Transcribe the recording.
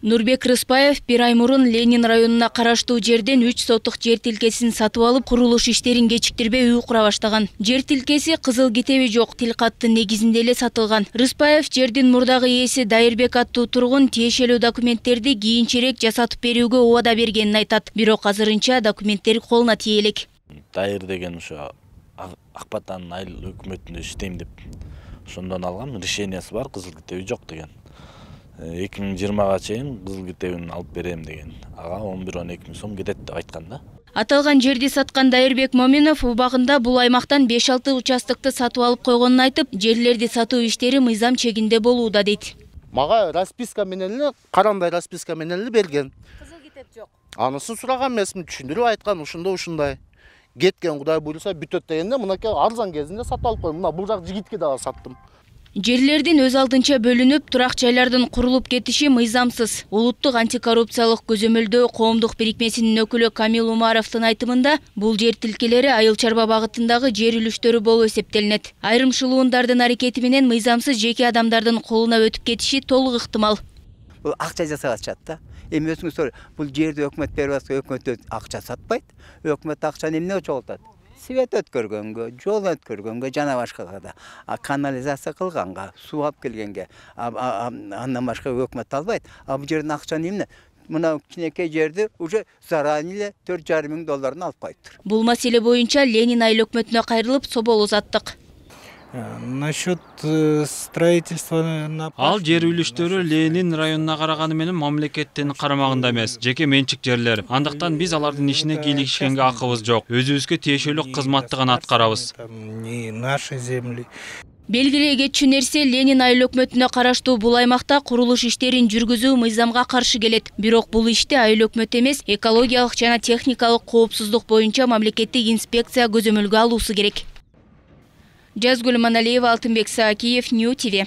Нурбек Рыспаев бир ай мурун Ленин районуна караштуу жерден 3 соттук жер тилкесин сатып алып, курулуш иштерин кечиктирбей үй кура баштаган. Жер тилкеси кызыл китеби жок, тилкаттын негизинде эле сатылган. Рыспаев жердин мурдагы ээси Дайырбек аттуу тургун тиешелүү документтерди кийинчерээк жасатып берүүгө убада бергенин айтат. Бирок азырынча документтер колуна тие элек. Дайыр деген ошо Акбатан айыл өкмөтүндө иштейм деп ошондон алган решениясы бар, кызыл китеби жок деген. 2020-га чейин кызыл китебин алып берем деген. Ага 11-12 миң сом кетет деп айткан да. Аталган жерди саткан Дайырбек Моминов убагында бул аймактан 5-6 участокты сатып алып койгонун айтып, жерлерди сатуу иштери мыйзам чегинде болууда дейт. Мага расписка менен эле, карандай расписка менен эле берген. Кызыл китеп жок. Анысын сураган эмесмин, түшүндүрүп айткан, ушундай. Кеткен Кудай буйруса бүтөт дегенде, мынакей арзан кезинде сатып алып койдум. Мына бул жак жигитке дагы саттым. Жерлердин өз алдынча бөлүнүп, турак жайлардын курулуп кетиши мыйзамсыз. Улуттук антикоррупциялык көзөмөлдөө коомдук бирикмесинин өкүлү Камил Умаровдун айтымында, бул жер тилкелери айыл чарба багытындагы жер үлүштөрү болуп эсептелинет. Айрым шылуундардын аракети менен мыйзамсыз жеке адамдардын колуна өтүп кетиши толук ыктымал. Бул акча жасагачат да. Эми өзүңүз бул жерди өкмөт берип атса, өкмөт акча сатпайт. Өкмөт акчаны эмне чогултат? Свет өткөргөнгө, жол өткөргөнгө, жана башкага да. Канализация кылганга, суу алып келгенге, андан башка өкмөт албайт. Бул жердин акчаны эмне? Мына кичинекей жерди уже заранее $4,5 алып коюптур. Бул маселе боюнча Ленин айыл өкмөтүнө кайрылып, собол узаттык. Насчет строительства ал жер үлүштөрү Ленин районуна караганы менен мамлекеттин карамагында эмес, жеке менчик жерлер. Андыктан биз алардын ишине кийлигишкенге акыбыз жок. Өзүбүзгө тиешелүү кызматты гана аткарабыз. Не наши земли. Белгилей кетчү нерсе, Ленин айыл өкмөтүнө караштуу бул аймакта курулуш иштерин жүргүзүү мыйзамга каршы келет. Бирок бул ишти айыл өкмөтү эмес, экологиялык жана техникалык коопсуздук боюнча мамлекеттик инспекция көзөмөлгө алуусу керек. Жазгүл Маналиева, Алтынбек Саакиев, Нью ТВ.